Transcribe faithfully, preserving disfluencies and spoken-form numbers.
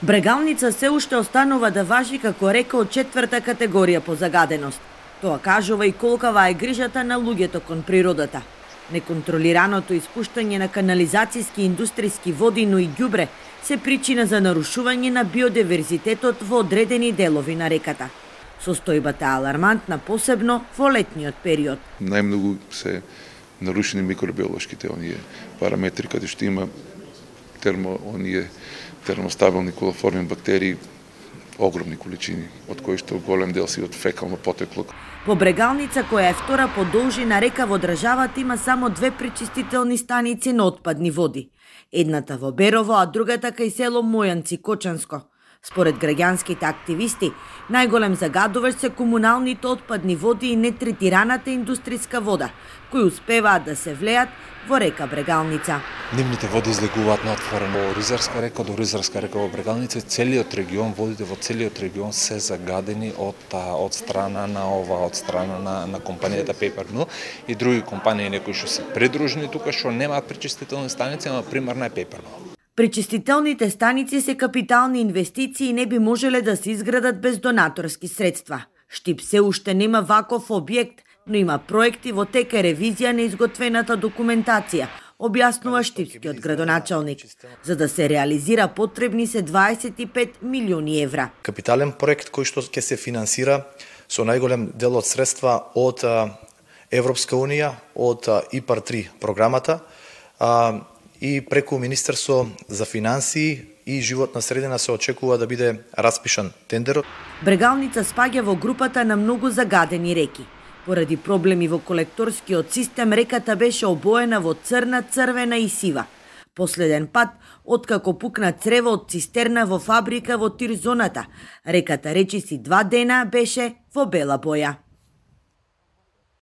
Брегалница се уште останува да важи како река од четврта категорија по загаденост. Тоа кажува и колкава е грижата на луѓето кон природата. Неконтролираното испуштање на канализацијски и индустријски води, но и ѓубре се причина за нарушување на биодиверзитетот во одредени делови на реката. Состојбата е алармантна, посебно во летниот период. Најмногу се нарушени микробиолошките оние параметри каде што има термо оние термостабилни колоформни бактерии, огромни количини, од кои што голем дел си од фекално потекло. По Брегалница, која е втора по должина река во државата, има само две пречистителни станици на отпадни води. Едната во Берово, а другата кај село Мојанци, Кочанско. Според граѓанските активисти, најголем загадувач се комуналните отпадни води и нетретираната индустријска вода, кои успеваат да се влеат во река Брегалница. Нивните води излегуваат на отворено. Во Ризарска река до Ризарска река во Брегалница, целиот регион, водите во целиот регион се загадени од од страна на ова, од страна на на компанијата Paper Mill и други компании некои што се придружени тука што немаат пречистителни станици, ама примарна е Paper Mill. Пречистителните станици се капитални инвестиции и не би можеле да се изградат без донаторски средства. Штип се уште нема ваков објект, но има проекти во тека ревизија на изготвената документација, објаснува штипскиот градоначалник. За да се реализира потребни се дваесет и пет милиони евра. Капитален проект кој што ќе се финансира со најголем дел од средства од Европска унија, од ИПАР три програмата, и преку Министерство за финансии и животна средина се очекува да биде распишан тендерот. Брегалница спаѓа во групата на многу загадени реки. Поради проблеми во колекторскиот систем, реката беше обоена во црна, црвена и сива. Последен пат, откако пукна црево од цистерна во фабрика во Тирзоната, реката речиси два дена беше во бела боја.